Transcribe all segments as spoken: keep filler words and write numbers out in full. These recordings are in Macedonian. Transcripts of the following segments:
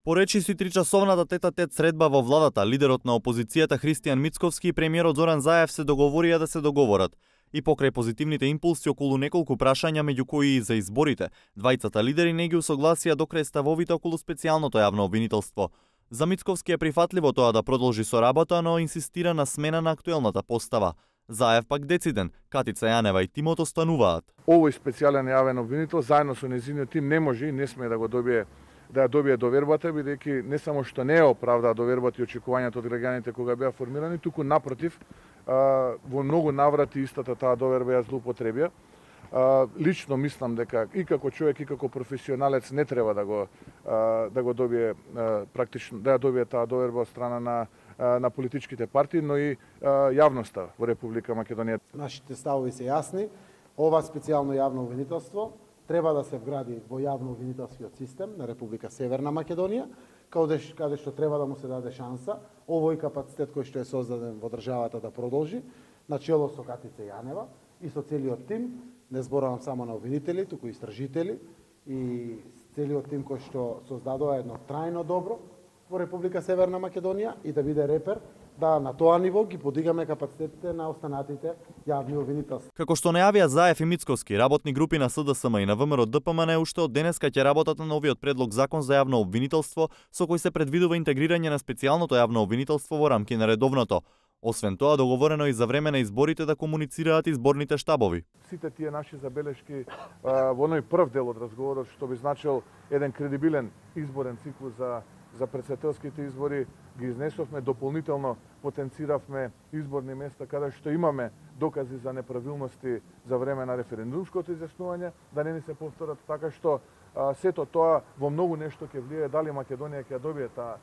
Поречи си тричасовната тета-тет средба во владата, лидерот на опозицијата Христијан Мицковски и премиерот Зоран Заев се договорија да се договорат. И покрај позитивните импулси околу неколку прашања, меѓу кои и за изборите, двајцата лидери не ги усогласија до крај ставовите околу специјалното јавно обвинителство. За Мицковски е прифатливо тоа да продолжи со работа, но инсистира на смена на актуелната постава. Заев пак дециден, Катица Јанева и тимот остануваат. Овој специјален јавен обвинител заедно со нејзиниот тим не може и не сме да го добие да ја добие довербата, бидејќи не само што не е оправдаа довербата и очекувањата од граѓаните кога беа формирани, туку напротив, во многу наврати истата таа доверба ја злоупотребија. Лично мислам дека и како човек и како професионалец не треба да го да го добие практично да ја добие таа доверба од страна на на политичките партии, но и јавноста во Република Македонија. Нашите ставови се јасни. Ова специјално јавно обвинителство треба да се вгради во јавно обвинителскиот систем на Република Северна Македонија, каде, каде што треба да му се даде шанса овој капацитет кој што е создаден во државата да продолжи, начело со Катица Јанева и со целиот тим, не зборувам само на обвинители, туку и истражители и целиот тим кој што создадува едно трајно добро во Република Северна Македонија и да биде репер да на тоа ниво ги подигаме капацитетите на останатите јавни обвинителства. Како што најавија Заев и Мицковски, работни групи на СДСМ и на ВМРО-ДПМН уште од денеска ќе работат на новиот предлог закон за јавно обвинителство, со кој се предвидува интегрирање на специјалното јавно обвинителство во рамки на редовното. Освен тоа, договорено и за време на изборите да комуницираат изборните штабови. Сите тие наши забелешки во оној прв дел од разговорот, што би значил еден кредибилен изборен циклус за за претседателските избори, ги изнесовме, дополнително потенциравме изборни места каде што имаме докази за неправилности за време на референдумското изјаснување, да не ни се повторат, така што а, сето тоа во многу нешто ќе влијае дали Македонија ќе добие таа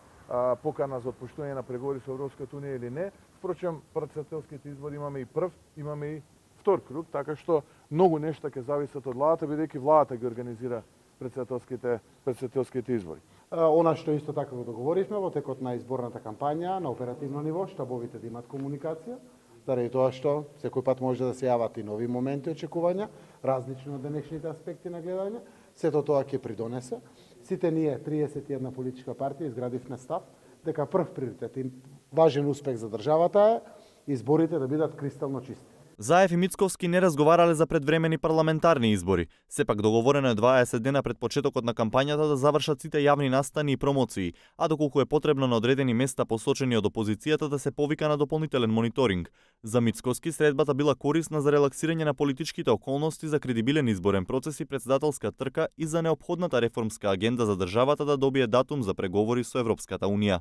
покана за отпуштување на преговори со Европската унија или не. Впрочем, претседателските избори имаме и прв, имаме и втор круг, така што многу нешта ќе зависат од владата, бидејќи владата ги организира претседателските претседателските избори. Она што исто така го договоривме во текот на изборната кампања на оперативно ниво, штабовите да имат комуникација, заради тоа што секој пат може да се јават и нови моменти очекувања, различно од денешните аспекти на гледање. Сето тоа ќе придонесе. Сите ние, триесет и една политичка партија, изградивме став дека прв приоритет и важен успех за државата е изборите да бидат кристално чисти. Заев и Мицковски не разговарале за предвремени парламентарни избори. Сепак договорено е дваесет дена пред почетокот на кампањата да завршат сите јавни настани и промоции, а доколку е потребно на одредени места посочени од опозицијата да се повика на дополнителен мониторинг. За Мицковски средбата била корисна за релаксирање на политичките околности, за кредибилен изборен процес и претседателска трка и за неопходната реформска агенда за државата да добие датум за преговори со Европската унија.